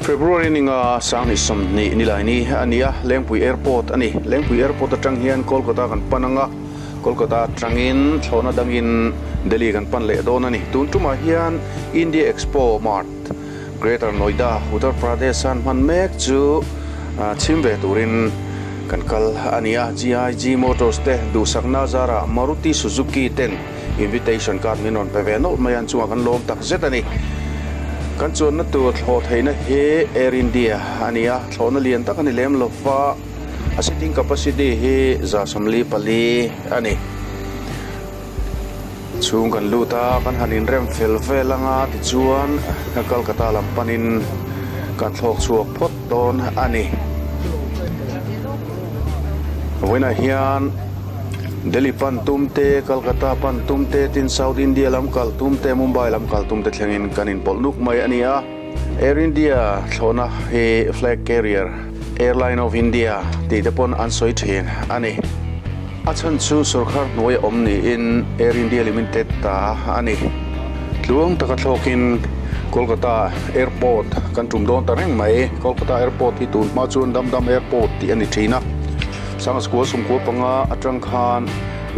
February ninga Sanghnih 20 nilaini a ni a, Lengpui Airport a ni. Lengpui Airport atang hian Kolkata kan pan anga, Kolkata atangin thlawhna dangin Delhi kan pan leh dawn a ni. Tun tumah hian India Expo Mart, Greater Noida, Uttar Pradesh an hman mek chu chhim ve turin kan kal a ni a. GIG Motors te duhsakna zarah Maruti Suzuki ten Invitation card min rawn pe ve nawlh mai a, an chungah kan lawm tak zet a ni. Kan chuanna tur thlawh theihna hi Air India a ni a, thlawhna lian tak a ni lem lo va, a seating capacity hi 144 a ni. Chhung kan lut a, kan han inrem fel vel anga tichuan Kolkata lam panin kan thlawk chhuak phawt dawn a ni. Vawiinah hian. Delhi pan tum te, Calcutta pan tum te, tin South India lam kal tum te, Mumbai lam kal tum te thlengin kan inpawlh nuk mai a ni a. Air India thlawhna hi flag carrier Airline of India tih te pawn an sawi thin a ni. A chhan chu sorkar hnuai a awm niin Air India Limited ta a ni. Tluang taka thlawkin Kolkata Airport kan tum dawn ta reng mai. Kolkata Airport hi tun hma chuan Dum Dum Airport tih a ni thin a. Sanghaskua 15 atang khan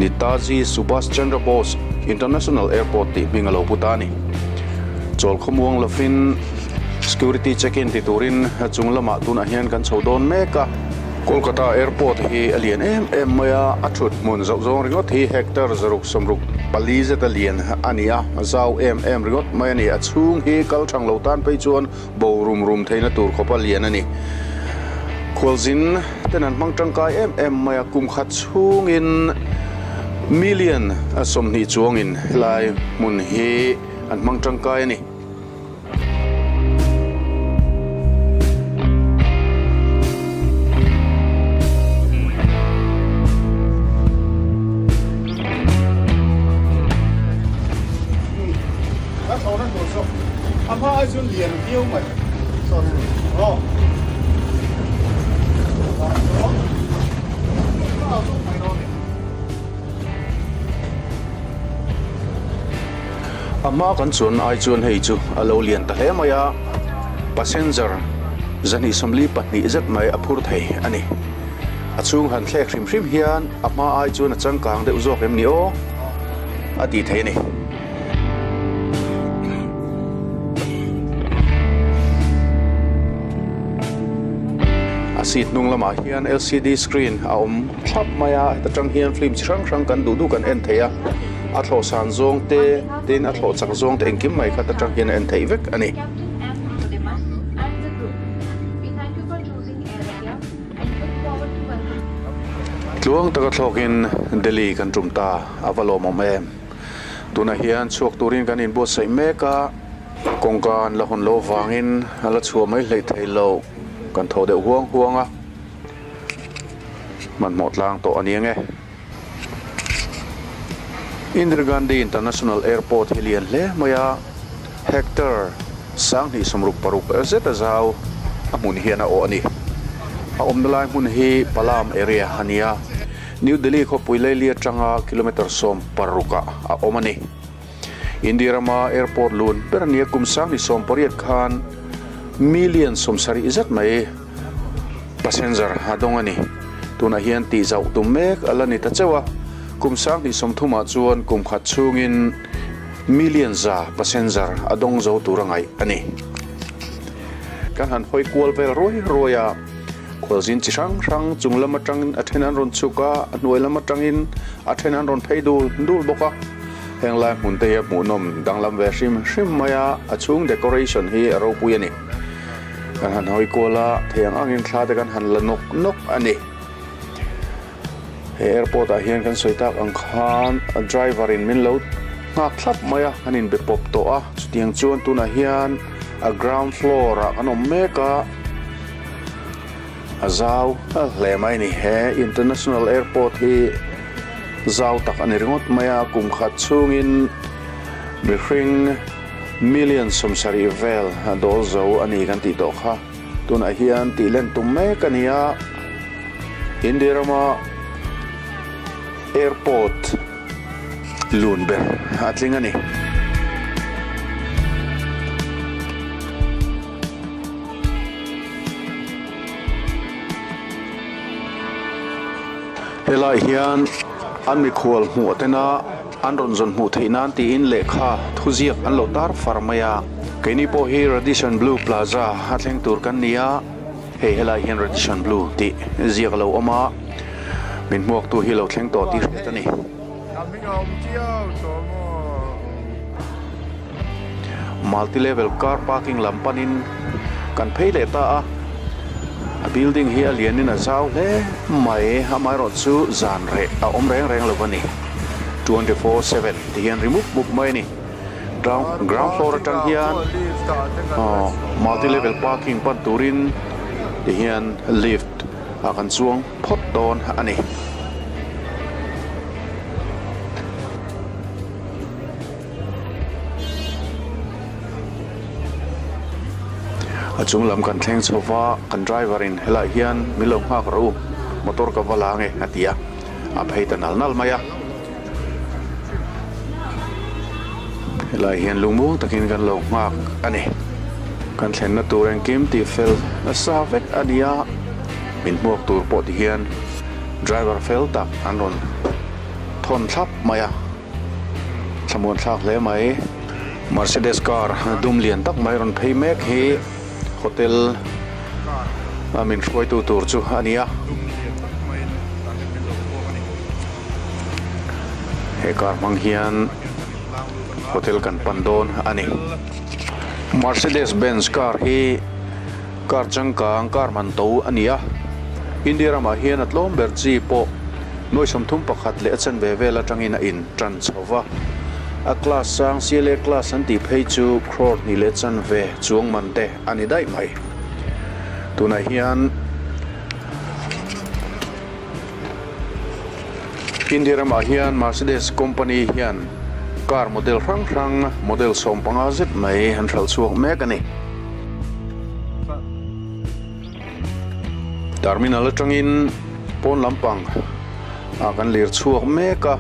Netaji Subhas Chandra Bose International Airport tih hming a lo pu ta a ni. Chawl khawmuang lovin security check-in ti turin chung lamah tunah hian kan chho dawn mek a. Kolkata Airport hi a lian em em mai a, a thut hmun zoh zawng ringawt hi hectare 674 zet a lian a ni a, zau em em ringawt mai a ni. A chhung hi kal thang lo tan phei chuan Bo rum rum theihna tur khawp a lian a ni. Khualzin ten an hmang tangkai em em mai a, kum khat chhungin million 20 chuangin helai hmun hi an hmang tangkai a ni. A hma ai chuan lian viau mai aw. A hma kan chuan ai chuan hei chu a lo lian ta hle mai a, passenger 242 zet mai a phur thei a ni. A chhung han thlek hrim hrim hian a hma ai chuan a changkang deuh zawk em ni aw a tih thei a ni. A seat hnung lamah hian lcd screen a awm thlap mai a heta tang hian film chi hrang hrang kan duh duh kan en thei a a thlawh san zawng te tin a thlawh chak zawng te engkim mai kha ta tang hian a en theih vek a ni. Tluang taka thlawkin Delhi kan tum ta a va lawmawm em. Tunah hian chhuak turin kan inbuatsaih mek a, kawngka an la hawn loh avangin a la chhuah mai hleih thei lo, kan thaw deuh huang huang a, hmanhmawh tlang tawh a ni ang e. Indira Gandhi International Airport hi lian hle mai a, hectare 266 zet a zau a hmun hian a awh a ni. A awmna lai hmun hi Palam area a ni a. New Delhi khawpui leili atanga kilometre 16 ah a awm a ni. India rama airport lun ber a nia kum 2018 khan million 70 zet mai passenger a dawng a ni. Tunah hian tih zauh tum mek a la ni ta chauh a, kum 2030 ah chuan kum khat chhungin million 100 passenger a dawng zo tur a ngaih a ni. Kan han hawi kual vel ruai ruai a. Khualzin chi hrang hrang chung lam atangin a then an rawn chhuk a, a hnuai lam atangin a then an rawn phei dul dul bawk a. Heng lai hmun te hi a hmuhnawm danglam ve hrim hrim mai a, a chhung decoration hi a ropui a ni. Kan han hawi kual a, thei ang angin thla te kan han la nawk nawk a ni. He airport ah hian kan sawi tak ang khan a driver in min lo nghak thlap mai a, an inbe pawp tawh a, chutiang chuan tunah hian a ground floor ah kan awm mek a. A zau hle mai a ni. He International Airport hi zau tak a ni ringawt mai a, kum khat chhungin mihring million 70 vel a dawl zo a ni kan tih tawh kha. Tunah hian tih len tum mek a ni a, India rama airport lun ber a tling a ni. Helaiah hian an mikhual hmuh tena an rawn zawn hmuh theih nan tiin lehkha thuziak an lo tar far mai a. Keini pawh hi Radisson Blu Plaza a thleng tur kan ni a, hei helaiah hian Radisson Blu tih ziak a lo awm a, min hmuaktu hi lo thleng tawh tih hriat a ni. Multi level car parking lam panin kan phei leh ta a, a building hi a lianin a zau hle mai, amaherawhchu zan reh a awm reng reng lo a ni, 24/7 ti hian ri mup mup mai a ni, ground ground floor atang hian aw multi level parking pan turin ti hian lift ah kan chuang phawt dawn a ni. A chung lam kan thleng chho va, kan driver in helaiah hian min lo nghak rawh u, motor ka va la ange a ti a, a phei ta nal nal mai a. Helaiah hian lungmuang takin kan lo nghak a ni. Kan thlenna tur engkim tih fel nasa vek a ni a, min hmuak tur pawh ti hian driver fel tak an rawn thawn thlap mai a. Thlamuan thlak hle mai. Mercedes car dum lian tak mai rawn phei mek hi hotel a min hruaitu tur chu a ni a. He car hmang hian hotel kan pan dawn a ni. Mercedes Benz car hi car changkang car man to a ni a. India ramah hian a tlawm ber chi pawh nuai 31 leh a chanve vel atangin a in tan chho va. A class sang CLA class an tih phei chu crore hnih leh chanve chuang man te a ni daih mai. Tunah hian India ramah hian Mercedes company hian car model hrang hrang model 15 zet mai an hralh chhuak mek a ni. Terminal atangin pawn lampang ah kan lir chhuak mek a.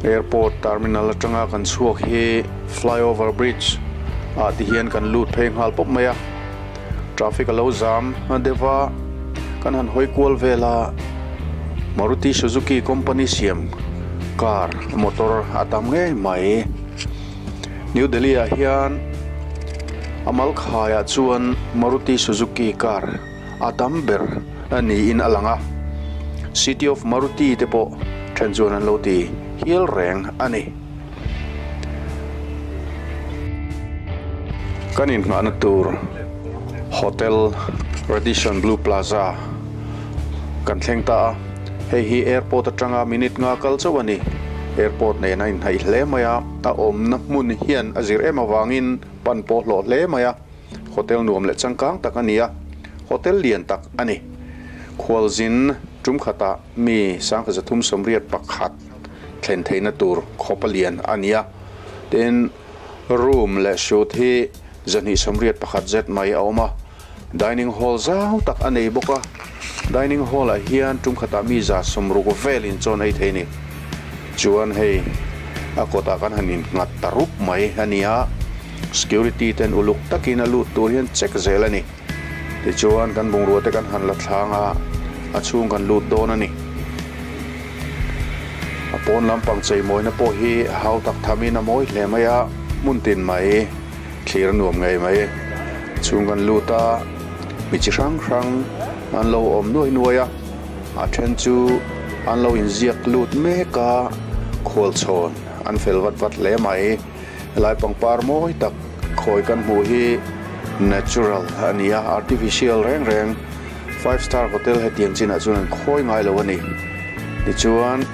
Airport terminal atanga kan chhuak hi flyover bridge ah ti hian kan lut phei nghal pawp mai a. Traffic a lo zam deuh a, kan han hawi kual vel a, Maruti Suzuki company siam car motor a tam ngei mai. New Delhi ah hian a mal khaiah chuan Maruti Suzuki car a tam ber niin a lang a, City of Maruti te pawh then chuan an lo ti hial reng a ni. Kan inhnahna tur Hotel Radisson Blu Plaza kan thleng ta a, hei hi airport atanga minute nga kal chauh a ni. Airport nen a inhnaih hle mai a, a awmna hmun hian a zir em avangin pan pawh hlawh hle mai a, hotel nuam leh changkang tak a ni a, hotel lian tak a ni. Khualzin tum khatah mi 1381 thlen theihna tur khawpa lian a ni a, tin room leh suite hi 281 zet mai a awm a, dining hall zau tak a nei bawk a, dining hall ah hian tum khatah mi 160 velin chawn ei thei a ni. Chuan hei a kawtah kan han innghat ta rup mai a ni a, security ten uluk takin a lut tur hian check zel a ni. Tichuan kan bungrua te kan han la thlang a, a chhung kan lut dawn a ni. A pawn lampang cheimawina pawh hi hau tak thamin a mawi hle mai a, hmun tin mai thlir a nuam ngei mai. Chhung kan lut a, mi chi hrang hrang an lo awm nuai nuai a, a then chu an lo inziak lut mek a, khualchhawn an fel vat vat hle mai. Helai pangpar mawi tak khawi kan hmuh hi natural a ni a, artificial reng reng five star hotel hetiang chinah chuan an khawi ngai lo a ni. Tichuan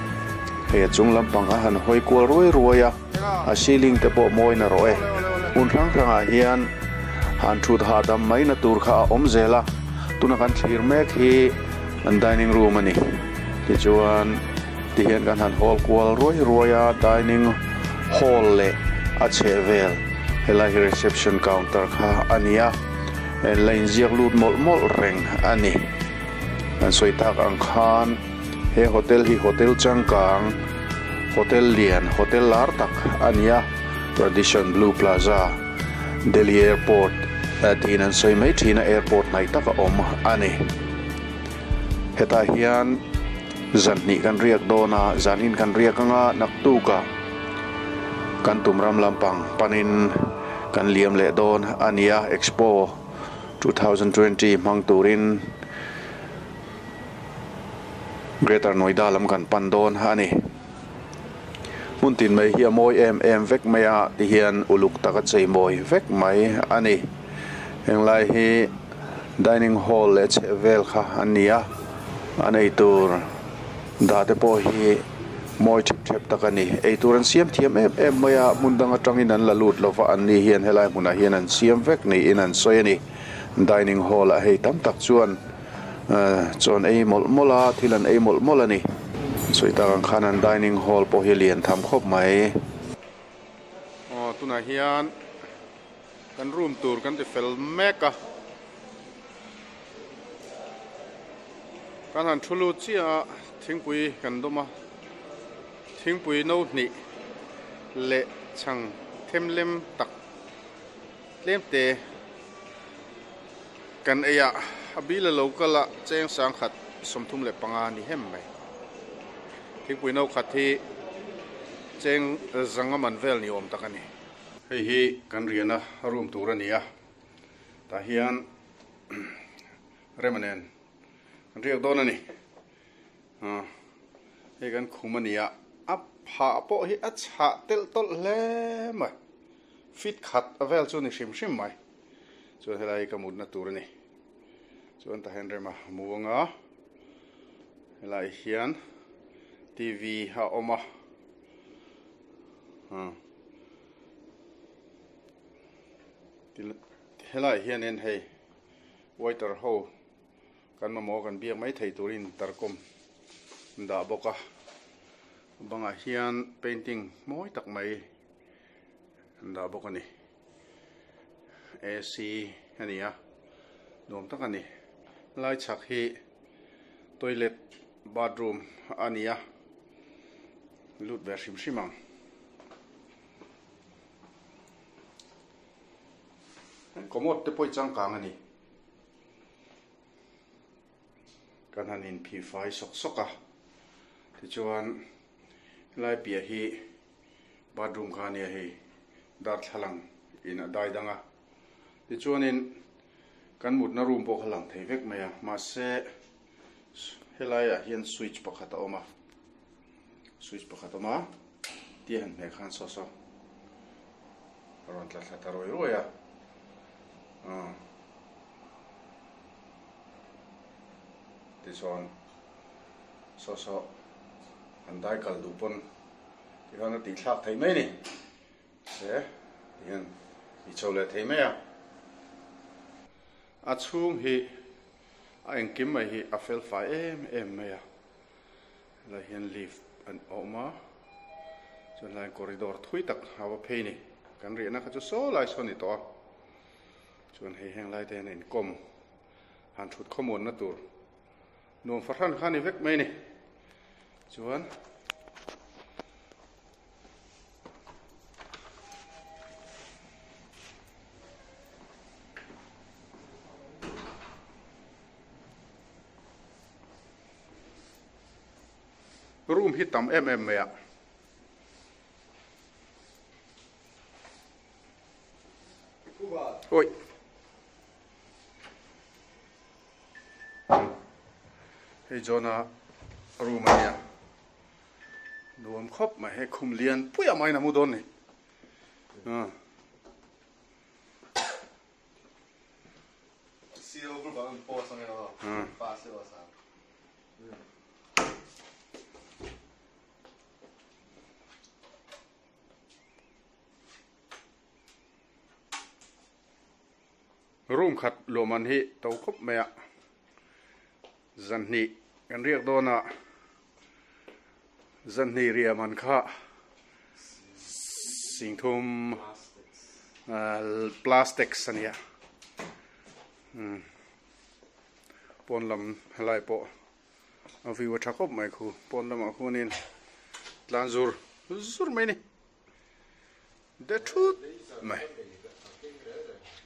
hei a chung lampang a han hawi kual ruai ruai a, a ceiling te pawh mawi na rawh e. Hmun hrang hrangah hian han thut hahdam mai na tur kha a awm zel a, tuna kan thlir mek hi an dining room a ni. Tichuan. Tihian kan han hawl kual ruai ruai a, dining hall leh a chhehvel helai hi reception counter kha a ni a, la inziak lut mawlh mawlh reng a ni. Kan sawi tak ang khan he hotel hi hotel changkang, hotel lian, hotel lar tak a ni a, Radisson Blu Plaza, Delhi Airport. tiin an sawi mai thin a airport hnaih tak a awm a ni. Hetah hian zan hnih kan riak dawn a, zan in kan riak anga naktukah kan tum ram lampang panin kan liam leh dawn a ni a, Expo 2020 hmang turin Greater Noida lam kan pan dawn a ni. Hmun tin mai hi a mawi em em vek mai a ti hian uluk taka chei mawi vek mai a ni. Henglai hi dining hall leh chheh vel kha an ni a, an eitur dah te pawh hi mawi thep thep tak a ni. Eitur an siam thiam em em mai a, hmun dang atangin an la lut lova an ni hian helai hmunah hian an siam vek niin an sawi a ni. Dining hall ah hei tam tak chuan Chaw an ei mawlh mawlh a, thil an ei mawlh mawlh a ni. Sawi tak ang khan an dining hall pawh hi lian tham khawp mai. Aw tunah hian kan room tur kan ti fel mek a, kan han thu lut chiah a, thingpui kan dawm a, thingpui no hnih leh chhang themlem tak Tlem te kan ei a, a bil a lo kal a, cheng sangkhat 35 ni hem mai. Thingpui no khat hi cheng zanga man vel ni awm tak a ni. Hei hi kan riahna room tur a ni a, tah hian rema nen kan riak dawn a ni. Hei kan khum a ni a, a phah pawh hi a chhah telh tawlh hle mai. Fit khat a vel chu ni hrim hrim mai. Chuan helai hi ka mutna tur a ni. Chuan tah hian rem a mu anga helai hian TV a awm a. Helai hianin hei waiter ho kan mamawh kan biak mai thei turin intercom an dah bawk a. Bangah hian painting mawi tak mai an dah bawk a ni. AC a ni a, nuam tak a ni. Lai chhak hi toilet bathroom a ni a, lut ve hrim hrim ang. Commode te pawh hi changkang a ni. Kan han inphih fai sawk sawk a, tichuan helai piah hi bathroom kha a nia hei darthlalang in a dai dang a, tichuanin kan mutna room pawh kha lang thei vek mai a, mahse helaiah hian switch pakhat a awm a, switch pakhat a awm a, tia han hmeh khan saw saw a rawn tla thla ta ruai ruai a, aw. Tichuan saw saw an dai kal duh pawn tikhan a tih thlak thei mai a ni. Se tihian i chho leh thei mai a. A chhung hi a engkim mai hi a fel fai em em mai a. Helai hian lift an awm a, chuan helai corridor thui tak a va phei a ni. Kan riahna kha chu saw lai saw a ni tawh a. Chuan hei heng lai te hian a inkawm han thut khawmuanna tur nuam fahran kha a ni vek mai a ni. Chuan room hi tam em em mai a. Oi. Hei John-a room a nia. Nuam khawp mai hei khum lian pui a main a mu dawn ni. Room khat luahman hi to khawp mai a, zanhnih kan riak dawn a, zanhnih riah man kha singthum plastics a nia, pawn lam helai pawh a view a tha khawp mai khu, pawn lamah khuanin tlan zur zur mai a ni. De thut mai.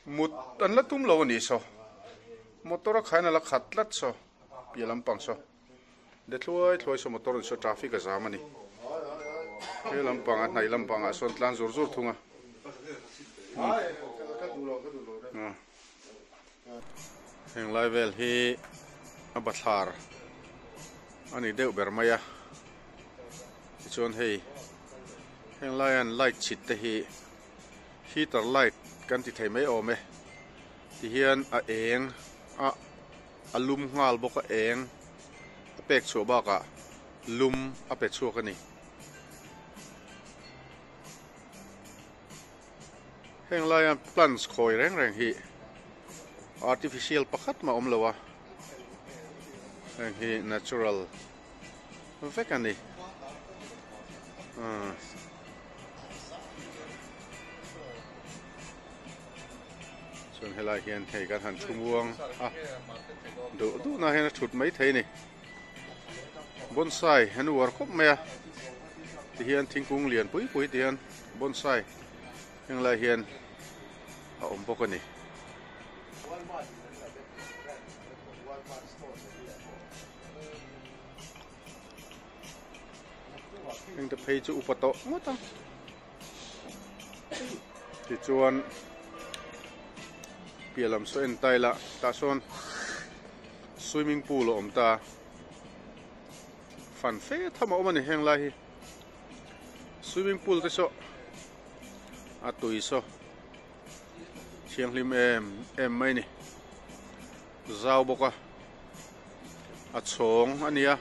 Mut an la tum lo a nih saw. Motor a khain a la khat tlat saw. Piah lampang saw. De thluai thluai saw motor in saw traffic a zam a ni. He lampang a hnaih lampang ah sawn tlan zur zur thung a. Heng lai vel hi a bathlar a ni deuh ber mai a. Tichuan hei heng lai an light chhit te hi heater light kan ti thei mai awm e. Tihian a eng a a lum nghal bawk a eng a pek chhuah bakah lum a pe chhuak a ni. Heng laia plants khawi reng reng hi artificial pakhat mah awm lo a, heng hi natural vek a ni. Chuan helai hian hei kan han thu muang a, duh duhna hian a thut mai thei a ni. Bonsai an uar khawp mai a, tihian thingkung lian pui pui tihian bonsai heng lai hian a awm bawk a ni. Heng te phei chu upa tawh ngawt ang. Tichuan piah lam saw en ta ila tah sawn swimming pool a awm ta fan fe tham a awm a ni heng lai hi swimming pool te saw a tui saw thianghlim em em mai a ni zau bawk a a chhawng a nia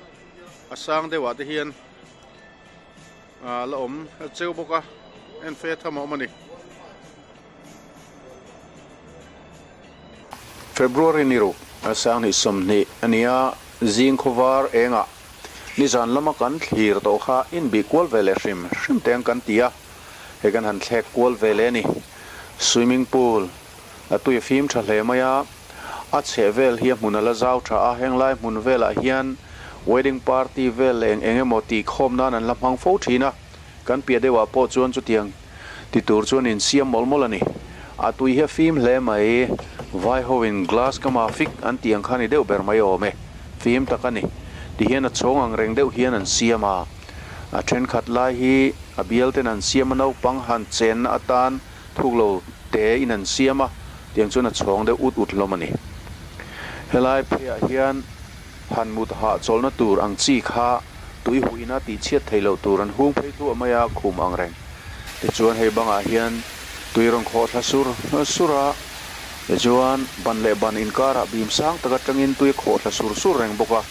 a sang deuh ah te hian ah la awm a cheu bawk a en fe tham a awm a ni. February ni ruk a sanghnih sawmhnih a nia zing khawvar engah nizan lama kan thlir tawh kha inbih kual ve leh hrim hrim te ang kan ti a hei kan han thlek kual ve leh a ni swimming pool a tui a fim tha hle mai a. A chheh vel hi a hmun a la zau tha a, henglai hmun velah hian wedding party vel leh eng eng emaw tih khawm nan an la hmang fo thin a, kan piah deuhah pawh chuan chutiang ti tur chuan insiam mawlh mawlh a ni. A tui hi a fim hle mai, vai hoin glass kama fik an tih ang kha ni deuh ber mai awm e, fim tak a ni. Ti hian a chhawng ang reng deuh hian an siam a, a thenkhat lai hi a bial ten an siam a naupang han chenna atan thuk lo te in an siam a, Tiang chuan a chhawng deuh ut ut hlawm a ni. Helai pheiah hian han mut hahchawlhna tur ang chi kha tui huh ina tih chhiat theih loh tur an hung phei thluah mai a, khum ang reng. Tichuan hei bangah hian tui rawn khawh thla sur sur a, tichuan ban leh ban inkarah bim sang tak atangin tui a khawh thla sur sur reng bawk a,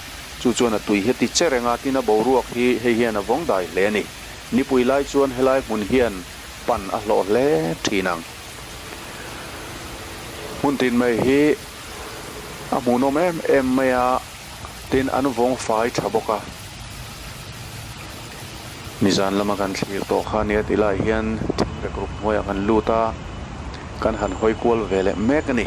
chu chuan a tui hi a ti che reng a, tin a boruak hi hei hian a vawng dai hle a ni. Nipui lai chuan helai hmun hian pan a hlawh hle thin ang. Hmun tin mai hi a hmuhnawm em em mai a, tin an vawng fai tha bawk a. Nizan lama kan thlir tawh kha nia tih lai hian thingrek ruk hnuaiah kan lut a, kan han hawi kual ve leh mek a ni.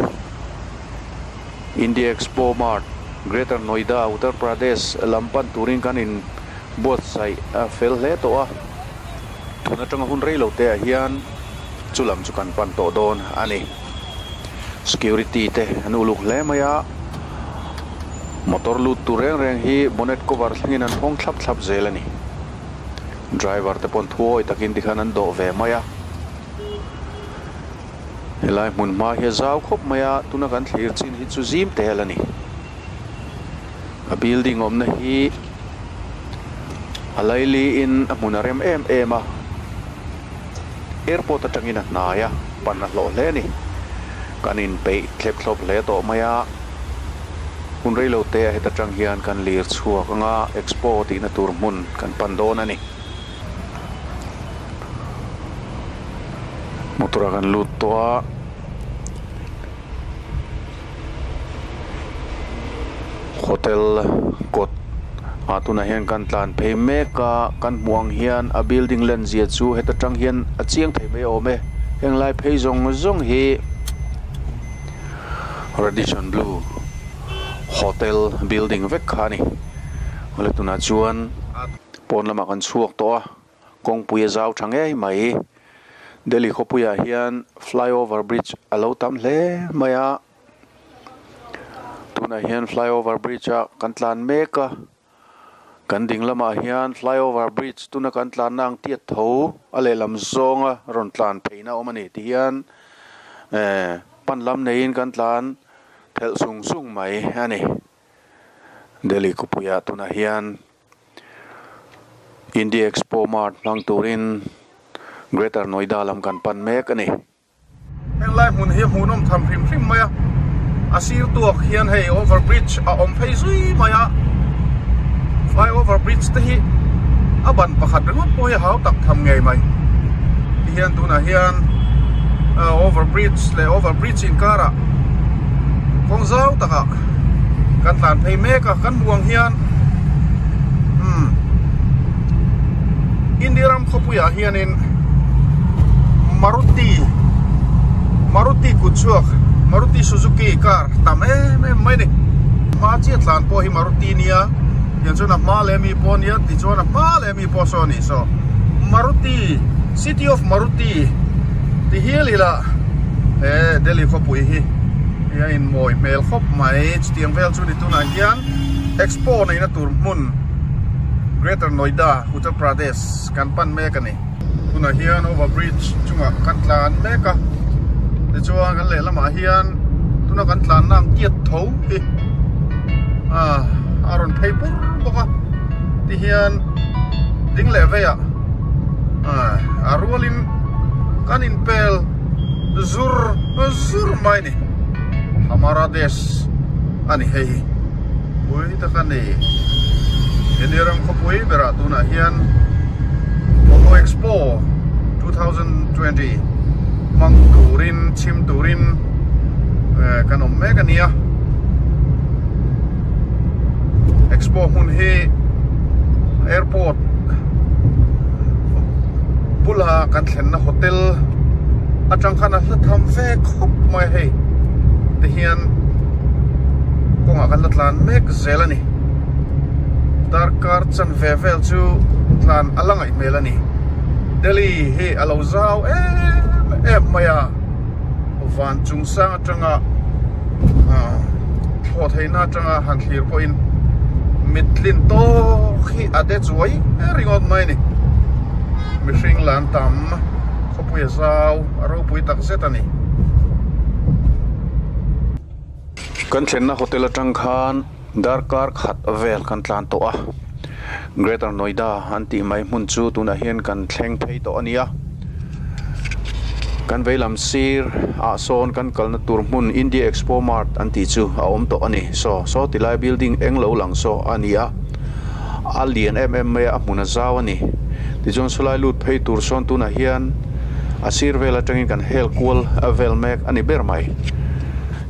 India Expo Mart, Greater Noida, Uttar Pradesh lam pan turin kan in buatsaih fel hle tawh a. Tun atanga hun rei lo te ah hian chu lam chu kan pan tawh dawn a ni. Security te an uluk hle mai a, motor lut tur reng reng hi bonnet cover thlengin an hawng thlap thlap zel a ni. Driver te pawn thuawi takin tikhan an dawh ve mai a. Helai hmun hma hi a zau khawp mai a, tuna kan thlir chin hi chu zim tel a ni. A building awmna hi a laili in a hmun a rem em em a, airport atangin a hnai a, pan a hlawh hle a ni. Kan inpeih thlep thlawp hle tawh mai a, hun reilo te a heta tang hian kan lir chhuak anga expo tihna tur hmun kan pan dawn a ni. Motor ah kan lut tawh a. Hotel kawt ah tunah hian kan tlan phei mek a kan hmuh ang hian a building lan zia chu heta tang hian a chiang thei mai awm e heng lai phei zawng zawng hi Radisson Blu hotel building vek kha a ni awle tunah chuan pawn lamah kan chhuak tawh a kawngpui a zau tha ngei mai. Delhi khawpuiah hian flyover bridge a lo tam hle mai a tunah hian flyover bridge ah kan tlan mek a kan ding lamah hian flyover bridge tuna kan tlanna ang tiat tho a lehlam zawnga rawn tlan pheina a awm a ni ti hian eh pan lam neiin kan tlan phelh sung sung mai a ni Delhi khawpuiah tunah hian. India Expo Mart hmang turin Greater Noida lam kan pan mek a ni. Heng lai hmun hi hmuhnawm tham hrim hrim mai a, a sir tuak hian hei over bridge a awm phei zui mai a, fly over bridge te hi a ban pakhat ringawt pawh hi a hau tak tham ngei mai. Tihian tunah hian over bridge leh over bridge inkarah kawng zau takah kan tlan phei mek a, kan hmuh ang hian umm India ram khawpuiah hianin Maruti Maruti kut chhuak Maruti Suzuki car tam em em mai a ni hma chiah tlan pawh hi Maruti nia tiang chuan a hma leh ami pawh ania tichuan a hma leh ami pawh saw a ni saw Maruti City of Maruti ti hial ila he Delhi khawpui hi. Hei a inmawi hmel khawp mai chutiang vel chu ni tunah hian expo neihna tur hmun Greater Noida Uttar Pradesh kan pan mek a ni. Tunah hian over bridge chungah kan tlan mek a tichuan kan lehlamah hian tuna kan tlanna ang tiat tho hi ah a rawn phei pur bawk a tihian ding leh veiah ah a rualin kan inpel. Zur zur mai ni Hamara Desh a ni hei hi pui tak a ni India ram khawpui berah tunah hian Auto Expo 2020 hmang turin chhim turin kan awm mek a nia Expo hmun hi airport bula kan thlenna hotel atang khan a hla tham ve khawp mai a hei ti hian kawngah kan la tlan mek zel a ni darkar chanve vel chu tlan a la ngaih hmel a ni Delhi hi a lo zau em em mai a van chung sang atanga thlawh theihna atanga han thlir pawhin mittlin tawk hi a de chuai ringawt mai a ni. Mihring lan tam khawpui a zau a ropui tak zet a ni. Kan thlenna hotel atang khan darkar khat vel kan tlan tawh a, Greater Noida an tih mai hmun chu tunah hian kan thleng phei tawh a ni a. Kan veilam sir ah sawn kan kalna tur hmun India Expo Mart an tih chu a awm tawh a ni. Saw saw tilai building eng lo lang saw a ni a. A lian em em mai a, a hmun a zau a ni. Tichuan sawlai lut phei tur sawn tunah hian a sir vel atangin kan hel kual vel mek a ni ber mai.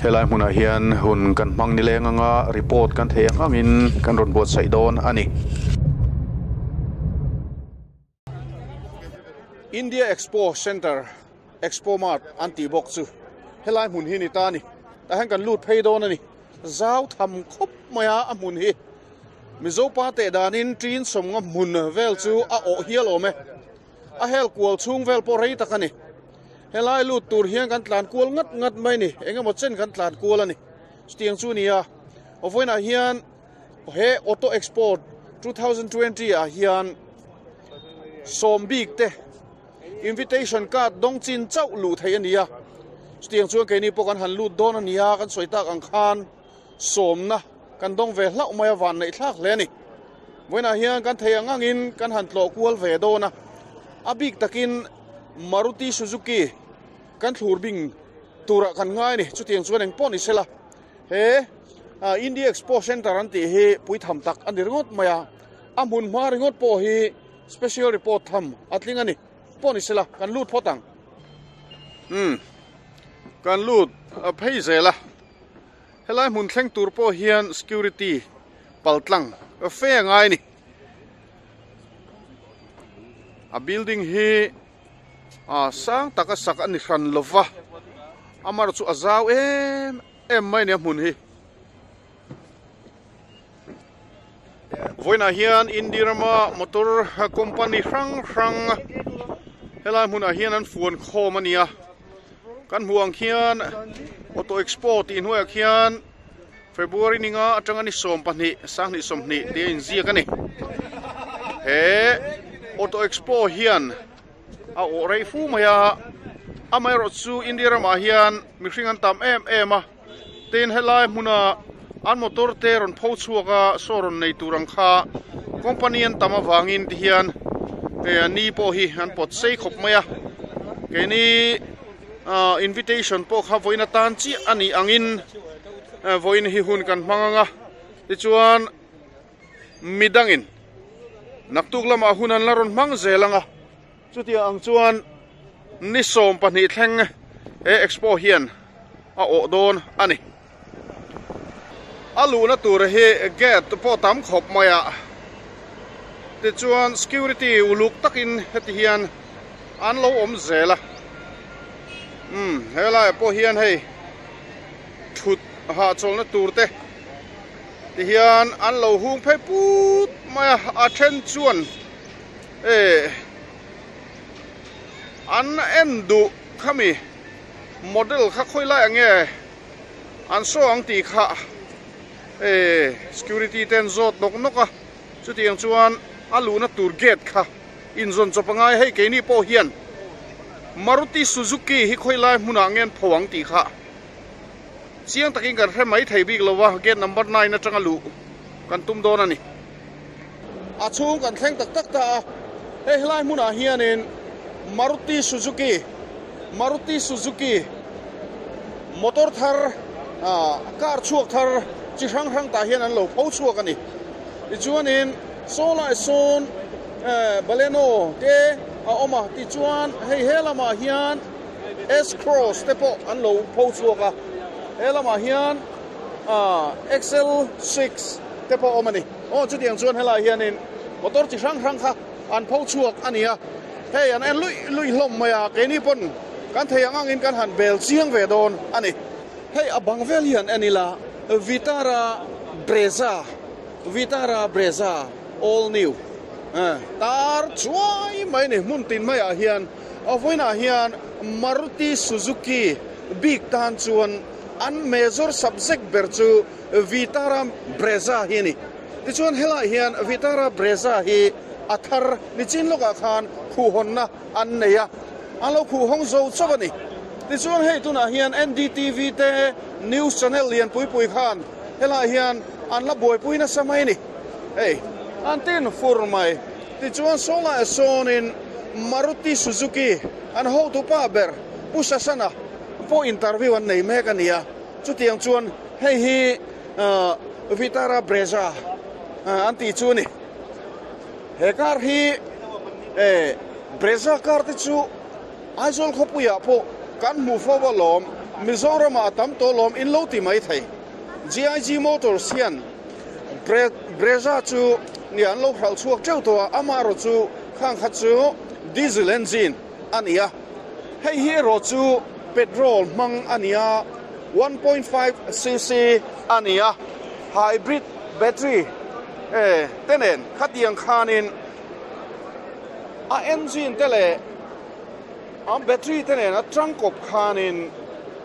Helai hmunah hian hun kan hmang nileng anga report kan thei ang angin kan rawn buatsaih dawn a ni. India Expo Centre, Expo Mart an tih bawk chu helai hmun hi ni ta a ni. Tah hian kan lut phei dawn a ni. Zau tham khawp mai a a hmun hi. Mizo pa teh danin ṭin sawmnga hmun vel chu a awh hial awm e. A hel kual chhung vel pawh rei tak a ni. Helai lut tur hian kan tlan kual ngat ngat mai ni. Eng emaw chen kan tlan kual a ni. Chutiang chu nia. Vawiinah hian he Auto Expo 2020 ah hian sawm bik te invitation card dawng chin chauh luh theih a ni a. Chutiang chuan keini pawh kan han lut dawn a nia kan sawi tak ang khan sawmna kan dawng ve hlauh mai a van neih thlak hle a ni. Vawiinah hian kan thei ang angin kan han tlawh kual ve dawn a, a bik takin Maruti Suzuki kan thlur bing turah kan ngai a ni. Chutiang chuan eng pawh ni sela he India Expo Centre an tih hi puitham tak a ni ringawt mai a, a hmun hma ringawt pawh hi special report tham a tling a ni. Pawh ni sela kan lut phawt ang. Umm kan lut phei zel a. Helai hmun thleng tur pawh hian security paltlang fe a ngai a ni. A building hi ah sang taka sak a ni hran lova, amaherawhchu chu a zau em em mai a ni a hmun hi. Vawiinah hian India rama motor company hrang hrang. Helai hmunah hian an fuan khawm a nia. Kan hmuh ang khian Auto Expo tih hnuaiah khian February ninga atanga ni 12 20 tih a inziak a ni. He Auto Expo hian a awh rei fu mai a, amaherawh chu India ramah hian mihring an tam em em a, tin helai hmuna an motor te rawn pho chhuak a saw rawn nei tur ang kha company an tam avangin ti hian eh ni pawh hi an pawt sei khawp mai a, keini ah invitation pawh kha vawiin atan chiah a nih angin vawiin hi hun kan hmang ang a, tichuan. Midangin naktuk lamah hun an la rawn hmang zel ang a, chutiang ang chuan ni 12 thleng he expo hian a awh dawn a ni. A luhna tur hi gate pawh tam khawp mai a, tichuan security uluk takin heti hian an lo awm zel a, umm helaiah pawh hian hei thut hahchawlhna tur te. Tihian an lo hung phei put mai a, a then chuan eh an en duh khami model kha khawi lai ang nge an saw ang tih kha eh security te an zawt nawk nawk a, chutiang chuan a luhna tur gate kha inzawn chawp a ngai hei keini pawh hian Maruti Suzuki hi khawi lai hmunah nge an pho ang tih kha. Chiang takin kan hre mai thei bik lo a, gate number 9 atanga luh kan tum dawn a ni. A chhung kan thleng tak tak ta a, hei helai hmunah hianin Maruti Suzuki, Maruti Suzuki motor thar, car chhuak thar chi hrang hrang tah hian an lo pho chhuak a ni. Tichuanin saw lai sawn Baleno te a awm a, tichuan hei he lamah hian S-Cross te pawh an lo pho chhuak a, he lamah hian XL 6 te pawh a awm a ni. Aw chutiang chuan helaiah hianin motor chi hrang hrang kha an pho chhuak a ni a, hei an en luih luih hlawm mai a, keini pawn kan thei ang angin kan han bel chiang ve dawn a ni. Hei a bang vel hi han en ila, Vitara Brezza, Vitara Brezza all new tar chuai mai a ni, hmun tin maiah hian. A vawiinah hian Maruti Suzuki bik tan chuan an major subject ber chu Vitara Brezza hi a ni. Tichuan helaiah hian Vitara Brezza hi a thar nichin lawkah khan khuhhawnna an nei a, an lo khuhhawng zo chauh a ni. Tichuan hei tunah hian NDTV te news channel lian pui pui khan helaiah hian an la buaipui nasa mai a ni. Hei an tin fur mai. Tichuan Sawlaiah sawnin Maruti Suzuki an hotu pa ber Pu Sasana pawh interview an nei mek a ni a, chutiang chuan hei hi Vitara Brezza an tih chu a ni. He car hi Brezza car te chu Aizawl khawpuiah pawh kan hmuh fo alawm, Mizoramah a tam tawh alawm in lo ti mai thei. GIG Motors hian Brezza chu ni an lo hralh chhuak teuh tawh a, amaherawh chu khang kha chu diesel engine a ni a, hei hi erawh chu petrol hmang a ni a, 1.5 cc a ni a, hybrid battery te nen khatiang khanin a engine te leh a battery te nen a tangkawp khanin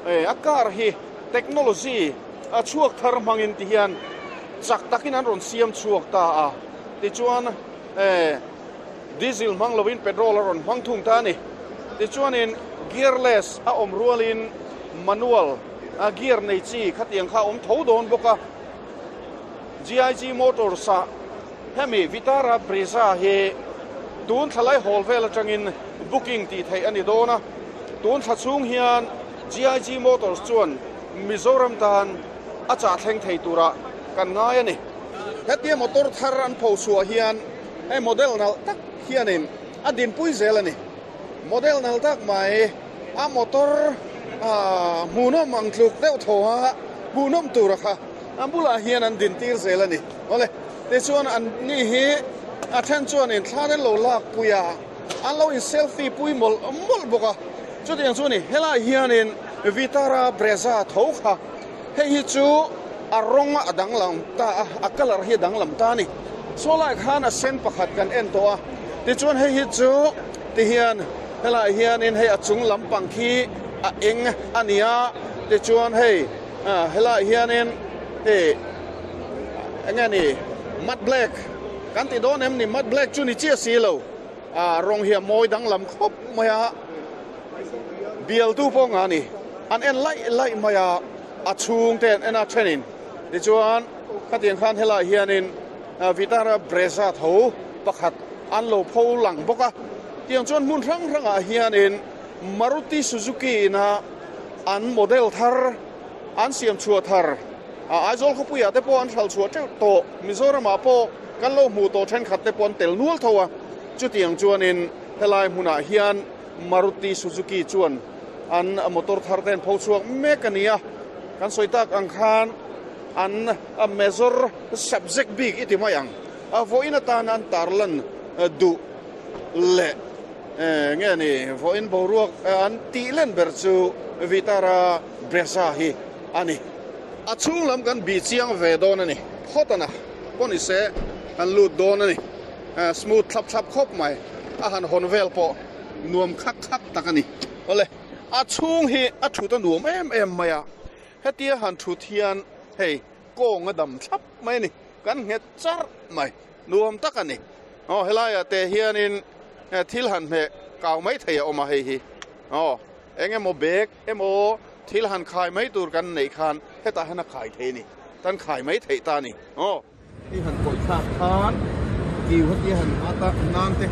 a car hi technology a chhuak thar hmangin ti hian chak takin an rawn siam chhuak ta a, tichuan eh diesel hmang lovin petrol a rawn hmang thung ta a ni. Tichuanin gearless a awm rualin manual a gear nei chi khatiang kha a awm tho dawn bawk a. GIG Motors ah hemi Vitara Brezza hi tun thla lai hawl vel atangin booking tih theih a ni dawn a, tun thla chhung hian GIG Motors chuan Mizoram tan a chah thleng thei turah kan ngai a ni. Hetia motor thar an pho chhuah hian hei model nalh tak hianin a dinpui zel a ni. Model nalh tak mai a motor hmuhnawm ang tluk deuh tho a hmuhnawm tura kha a bulah hian an dintir zel a ni. Awle, tichuan an ni hi a then chuanin thla an lo lakpui a, an lo in selfie pui mawlh mawlh bawk a. Chutiang chu a ni, helai hianin Vitara Brezza tho kha hei hi chu a rawng a danglam ta a, a colour hi a danglam ta a ni. Saw lai khan a sen pakhat kan en tawh a, tichuan hei hi chu ti hian Helaiah hianin hei a chung lampang khi a eng a ni a, tichuan hei helaiah hianin hei eng nge ni mat black kan ti dawn em ni mat black chu ni chiah si lo a rawng hi a mawi danglam khawp mai a, bialtu pawh nga ni an en laih laih mai a, a chhungte an en a thenin tichuan khatiang khan helaiah hianin Vitara Brezza tho pakhat an lo pho lang bawk a. Tiang chuan hmun hrang hrangah hianin Maruti Suzuki ina an model thar an siam chhuah thar a Aizawl khawpuiah te pawh an hral chhuah teuh tawh. Mizoramah pawh kan lo hmuh tawh thenkhat te pawh an tel nual tho a. Chutiang chuanin helai hmunah hian Maruti Suzuki chuan an motor thar te an pho chhuak mek a ni a. Kan sawi tak ang khan an major subject bik i ti mai ang. A vawiin atana an tarlan duh leh nge ni vawiin boruak an tih len ber chu Vitara Brezza hi a ni. A chhung lam kan bih chiang ve dawn a ni. Phawtana pawh ni se kan lut dawn a ni. Smooth thlap thlap khawp mai. A han hawn vel pawh nuam khak khak tak a ni. Awle, a chhung hi a thut a nuam em em mai a. Hetia han thut hian hei kawng a dam thlap mai a ni. Kan nghet charh mai. Nuam tak a ni. Aw helaiah te hianin thil han hmeh kau mai thei a awm a hei hi. Aw eng emaw bag emaw thil han khai mai tur kan neih khan hetah hian a khai thei a ni. Kan khai mai theih ta a ni. Aw. Hei han kawih thlak khan kiu hetia han at a nan te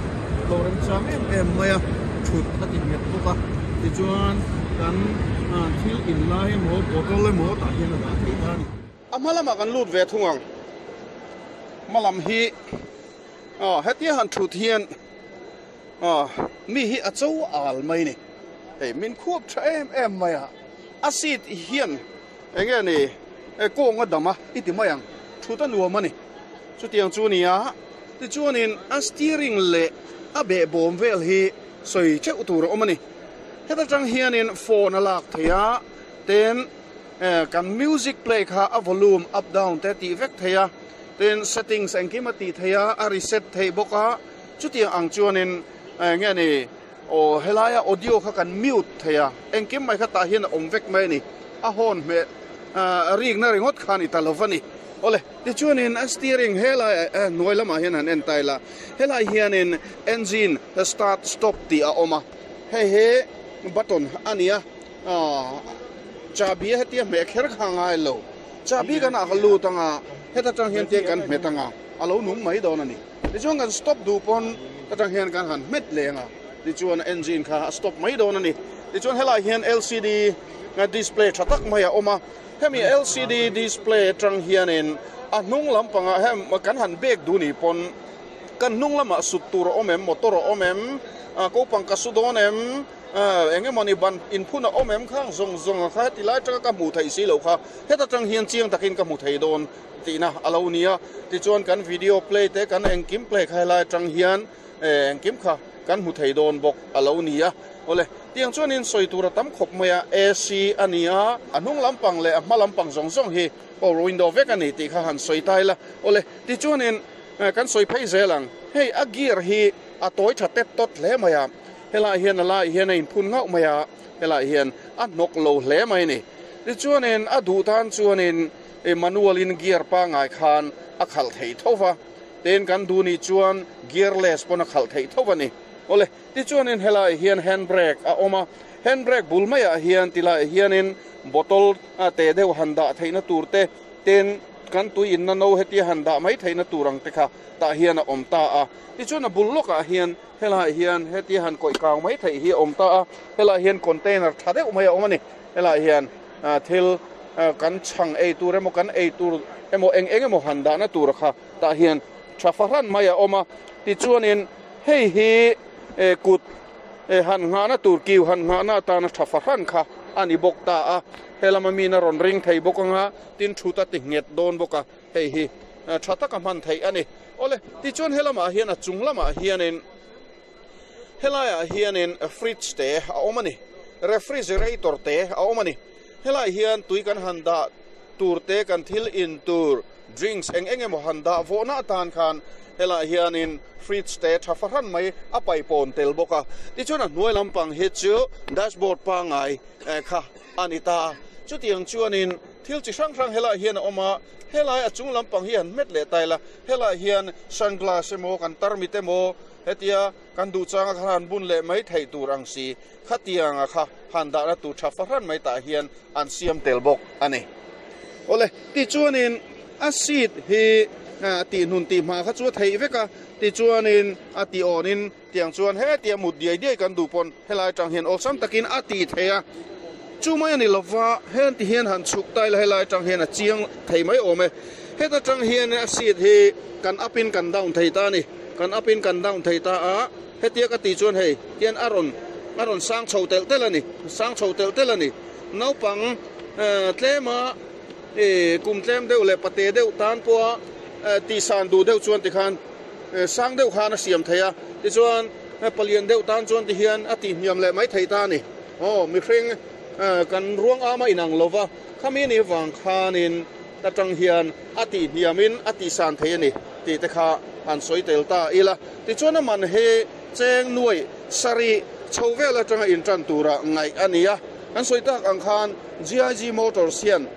lo remchang em em mai a thut a ti nghet bawk a. Tichuan kan thil in lai emaw bottle emaw tah hian a dah thei ta a ni. A hma lamah kan lut ve thung ang. Hma lam hi aw hetia han thut hian aw mi hi a cho al mai ni. Hei min khuap tha em em mai a, a seat hian eng nge ni kawng a dam a i ti mai ang, thut a nuam a ni. Chutiang chu a ni a, tichuanin a steering leh a behbawm vel hi sawi teuh tur a awm a ni. Heta tang hianin phone a lak theih a, tin. Kan music play kha a volume up down te tih vek thei a, tin settings engkim a tih thei a, a reset theih bawk a, chutiang ang chuanin eng nge ni aw helaia audio kha kan mute thei a, engkim mai kha tah hian a awm vek mai a ni, a hawn hmeh rikna ringawt kha a ni ta lo va ni. Awle, tichuanin a steering helai hnuai lamah hian han en ta ila, helai hianin engine start stop tih a awm a, hei hi button a ni a. Chahbi hetia hmeh kher kha a ngai lo. Chahbi kan ah ka lut anga heta tang hian tiang kan hmet anga a lo nung mai dawn a ni. Tichuan kan stop duh pawn ta tang hian kan han hmet leh anga tichuan engine kha a stop mai dawn a ni. Tichuan helai hian LCD display tha tak mai a awm a, hemi LCD display atang hianin a hnung lampangah hem kan han bek duh ni pawn kan hnung lamah sut tur a awm em, motor a awm em, kopang ka su dawn em, Eng emaw ni ban inphun a awm em khang zawng zawng a kha heti lai atanga ka hmuh theih si loh kha heta tang hian chiang takin ka hmu thei dawn tihna a lo ni a. Tichuan kan video play te kan engkim play kha helai atang hian engkim kha kan hmu thei dawn bawk a lo ni a. Awle, tiang chuanin sawi tur a tam khawp mai a, AC a ni a, a hnung lampang leh a hma lampang zawng zawng hi power window vek a ni tih kha han sawi ta ila. Awle, tichuanin kan sawi phei zel ang, hei a gear hi a tawi tha tet tawt hle mai a. Helaiah hian a laiah hian a inphun ngauh mai a, helaiah hian a hnawk lo hle mai a ni. Tichuanin a duh tan chuanin manual in gear pangngai khan a khalh theih tho va, tin kan duh nih chuan gearless pawn a khalh theih tho va ni. Awle, tichuanin helaiah hian hand brake a awm a, hand brake bul maiah hian tilaiah hianin bottle teh deuh han dah theihna tur te, tin kan tui inna no hetia han dah mai theihna tur ang te kha tah hian a awm ta a. Tichuan a bul lawkah hian Helaiah hian hetia han kawih kang mai theih hi a awm ta a, helaiah hian container tha deuh mai a awm a ni. Helaiah hian thil kan chhang ei tur emaw kan ei tur emaw eng eng emaw han dahna tur kha tah hian tha fahran mai a awm a. Tichuanin hei hi kut han nghahna tur kiu han nghahna atana tha fahran kha a ni bawk ta a. Helama min a rawn ring thei bawk anga tin thut a ti nghet dawn bawk a. Hei hi tha taka hman theih a ni. Awle, tichuan helamah hian a chung lamah hianin helaiah hianin fridge te a awm a ni, refrigerator te a awm a ni. Helaiah hian tui kan han dah tur te, kan thil in tur drinks eng eng emaw han dah vawhna atan khan helaiah hianin fridge te tha fahran mai a paipawn tel bawk a. Tichuan a hnuai lampang hi chu dashboard pangngai kha a ni ta a. Chutiang chuanin thil chi hrang hrang helaiah hian a awm a, helai a chung lampang hi han hmet leh ta ila, helaiah hian sunglass emaw kan tarmit emaw hetia kan duh changa kha han bun leh mai theih tur ang si khatianga kha han dahna tur tha fahran mai tah hian an siam tel bawk a ni. Awle, tichuanin a seat hi tihnun tih hma kha chu a theih vek a, tichuanin a tih awnin tiang chuan hetia mut diai diai kan duh pawn helai atang hian awlsam takin a tih theih a, chu mai a ni lova heng ti hian han chhuk ta ila helai atang hian a chiang thei mai awm e. Heta tang hian a seat hi kan up in kan down thei ta a ni, kan up in kan down thei ta a, hetia ka tih chuan hei tian a rawn a rawn sang chho telh telh a ni, sang chho telh telh a ni. Naupang tlema kum tlem deuh leh pate deuh tan pawha tihsan duh deuh chuan tikhan sang deuh khan a siam thei a, tichuan palian deuh tan chuan tihian a tihhniam leh mai thei ta a ni. Aw mihring kan ruang ama inang lova khami ni vang khanin ta tang hian a tihhniamin a tihsan thei a ni tih te kha han sawi tel ta ila. Tichuan a man hi cheng nuai sarih chho vel atanga intan tura ngaih a ni a. Kan sawi tak ang khan GIG Motors hian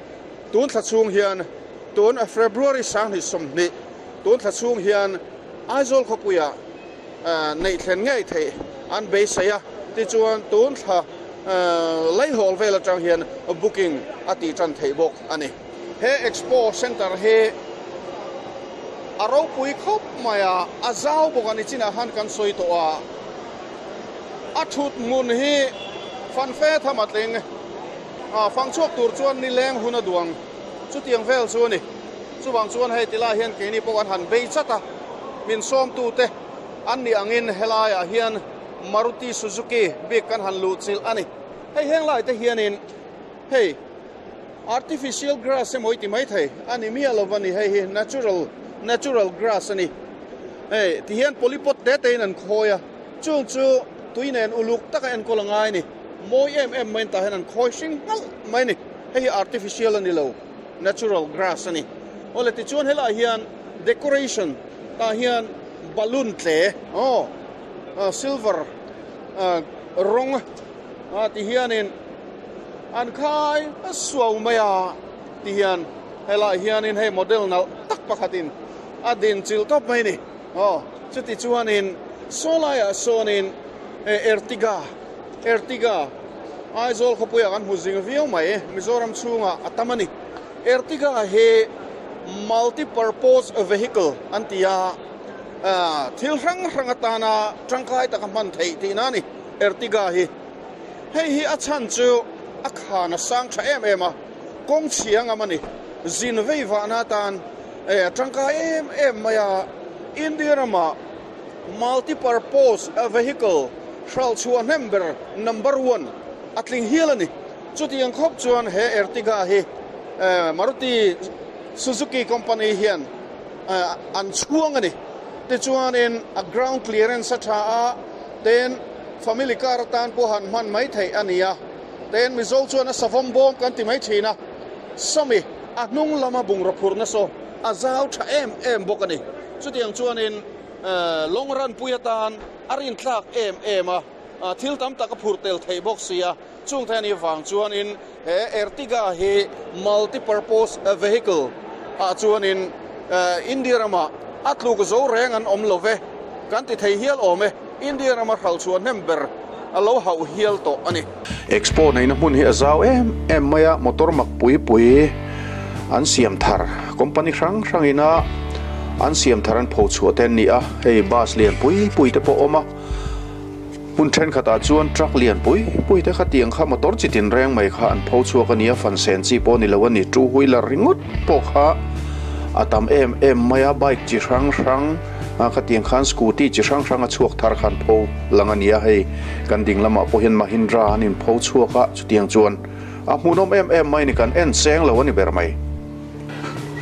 tun thla chhung hian tun February 2020 tun thla chhung hian Aizawl khawpuiah neih thlen ngei theih an beisei a, tichuan tun thla Leihawl vel atang hian booking a tih tan theih bawk a ni. He Expo Centre hi a ropui khawp mai a, a zau bawk a ni chinah khan kan sawi tawh a. A thut hmun hi fanfe tham a tling a, fang chhuak tur chuan nileng hun a duang chutiang vel chu a ni. Chuvang chuan hei tilai hian keini pawh an han bei chat a, min sawmtute an nih angin helaiah hian Maruti Suzuki bik kan han luh chilh a ni. Hei heng lai te hianin hei artificial grass emaw i ti maithei a ni miah lo a ni, hei hi natural natural grass a ni. Hei ti hian polypot te te in an khawi a, chung chu tui nen uluk taka enkawl a ngai a ni. Mawi em em maiin tah hian an khawi hring nghalh mai a ni. Hei hi artificial a ni lo, natural grass a ni. Awle tichuan helaiah hian decoration tah hian balloon tle aw silver rawng a ti hianin an khai a suau mai a ti hian helaiah hianin hei model nalh tak pakhatin a din chilh tawp mai a ni. Aw, chuti chuanin saw laiah sawnin Ertiga, Ertiga, Aizawl khawpuiah kan hmu zing viau mai, Mizoram chhungah a tam a ni. Ertiga hi multi-purpose vehicle an ti a, thil hrang hrang atana tangkai taka hman theih tihna a ni Ertiga hi. Hei hi a chhan chu a khan a sang tha em em a, kawng chhia ngam a ni. Zin vei vahna atan a tangkai em em mai a, India ramah multi-purpose vehicle hralh chhuah hnem ber number one a tling hial a ni. Chutiang khawp chuan he Ertiga hi Maruti Suzuki company hian an chhuang a ni. Tichuanin a ground clearance a tha a, ten family car atan pawh han hman mai theih a ni a, ten Mizo chuan a savawm bawm kan ti mai thin a. Sawmi a hnung lama bungraw phurna saw a zau tha em em bawk a ni. Chutiang chuanin long run pui atan a rintlak em em a, thil tam tak a phur tel theih bawk si a. Chung te anih vang chuanin he Ertiga hi multi-purpose vehicle ah chuanin India ramah a tluk zo reng an awm lo ve kan ti thei hial awm e. India rama hralh chhuah hnem ber a lo hauh hial tawh a ni. Expo neihna hmun hi a zau em em mai a, motor mak pui pui an siam thar, company hrang hrangin a an siam thar an pho chhuah te an ni a, hei bus lian pui pui te pawh a awm a, hmun thenkhatah chuan truck lian pui pui te kha tiang kha motor chi tin reng mai kha an pho chhuak a ni a, fan sen chi pawh a ni lo a ni, two wheeler ringawt pawh kha a tam em em mai a, bike chi hrang hrang. A khatiang khan scooty chi hrang hrang a chhuak thar khan pho lang a ni a, hei kan ding lamah pawh hian Mahindra an in pho chhuak a, chutiang chuan a hmuhnawm em em mai ni kan en cheng lo a ni ber mai.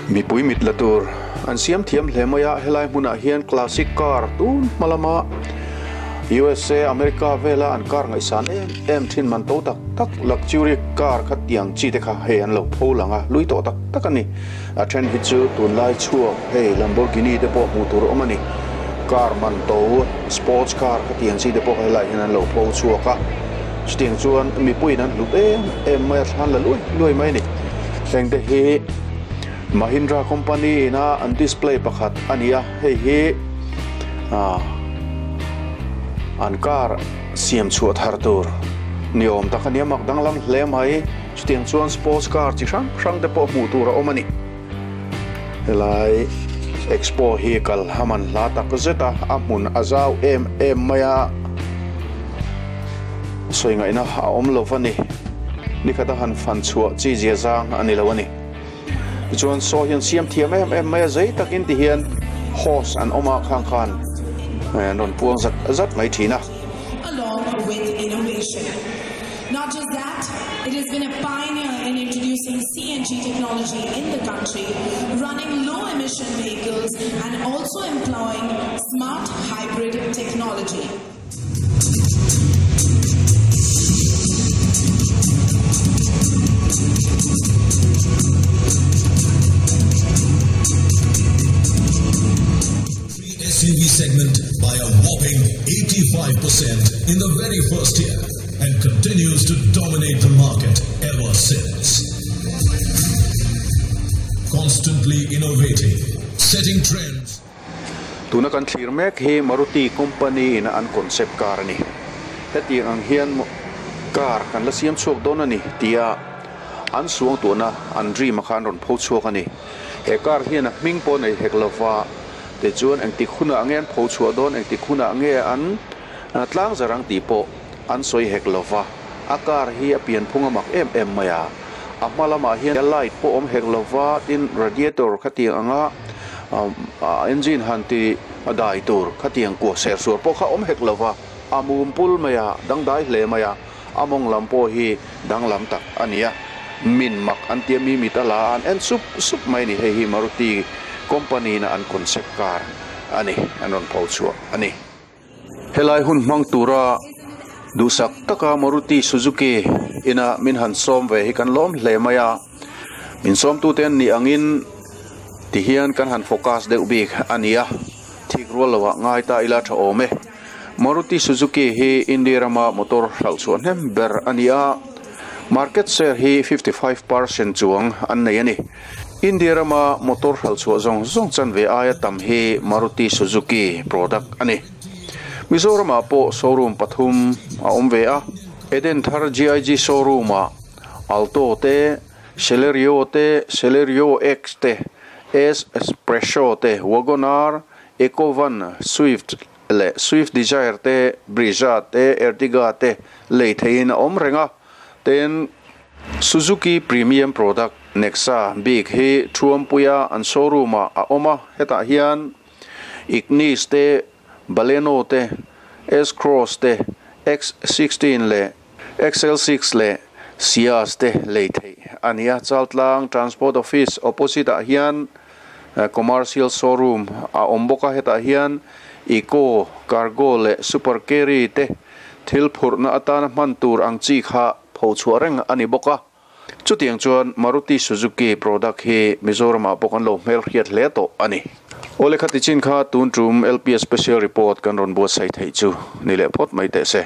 Mipui mit la tur an siam thiam hle mai a, helai hmunah hian classic car tun hma lama USA, America vela an car ngaihsan em em thin man to tak tak luxury car kha tiang chi te kha hei an lo pho lang a, lui tawh tak tak a ni. A then hi chu tunlai chhuak hei Lamborghini te pawh hmuh tur a awm a ni. Car man to sports car kha tiang chi te pawh helai hian an lo pho chhuak a, chutiang chuan mipuiin an hlut em em mai a, thlan la luai luai mai a ni. Heng te hi Mahindra company ina an display pakhat a ni a, hei hi ah an car siam chhuah thar tur ni awm tak a ni a, mak danglam hle mai. Chutiang chuan sports car chi hrang hrang te pawh hmuh tur a awm a ni. Helai expo hi kal a man hla tak zet a, a hmun a zau em em mai a, sawi ngaihna a awm lo va ni. Nikhat a han fan chhuah chi zia zang a ni lo a ni. Tichuan saw hian siam thiam em em mai a, zei takin ti hian host an awm a khang khan an rawn puang zat zat mai thin a. Along with innovation. Not just that, it has been a pioneer in introducing CNG technology in the country, running low emission vehicles and also employing smart hybrid technology. SUV segment by a whopping 85% in the very first year and continues to dominate the market ever since. Constantly innovating, setting trends. Tuna kan thlir mek hi Maruti company in an concept car a ni. Hetiang ang hian car kan la siam chhuak dawn a ni tia an suang tuahna an dream a kha an rawn pho chhuak a ni. He car hian a hming pawh nei hek lova tichuan engtik hunah nge an pho chhuah dawn engtik hunah nge an tlang zar ang tih pawh an sawi hek lova. A car hi a pianphung a mak em em mai a. A hma lamah hian light pawh awm hek lova tin radiator khatiang anga engine han ti dai tur khatiang kuah ser suar pawh kha awm hek lova a mum pul mai a, dangdai hle mai a, a mawng lam pawh hi danglam tak a ni a, min mak an tia mi mit a la a an en sup sup mai a ni, hei hi Maruti company in a an concept car a ni, an rawn pho chhuah a ni. Helai hun hmang tura duhsak taka Maruti Suzuki ina min han sawm ve hi kan lawm hle mai a, min sawmtute an nih angin tihian kan han focus deuh bik a ni a, thik rual loah ngai ta ila tha awm e. Maruti Suzuki hi India rama motor hralh chhuah hnem ber a ni a, market share hi 55% chuang an nei a ni. India rama motor hralh chhuah zawng zawng chanve aia tam hi Maruti Suzuki product a ni. Mizoramah pawh showroom pathum a awm ve a, Edenthar GIG showroom ah Alto te, Celerio te, Celerio X te, S Presso te, Wagon-R, Ecovan, Swift leh Swift Dzire te, Brezza te, Ertiga te lei theihin a awm reng a, tin, Suzuki premium product Nexa bik hi Thuampuia an showroom ah a awm a, hetah hian Ignis te, Baleno te, S-Cross te, X16 leh XL6 leh Ciaz te lei theih a ni a. Chaltlang Transport Office opposite ah hian commercial showroom a awm bawk a, hetah hian Eco, Cargo leh Super Carry te thil phurhna atana hman tur ang chi kha pho chhuah reng a ni bawk a. Chutiang chuan Maruti Suzuki product hi Mizoramah pawh kan lo hmelhriat hle tawh a ni. Awle khati chin kha tun tum LPS Special Report kan rawn buatsaih theih chu ni leh phawt mai teh se.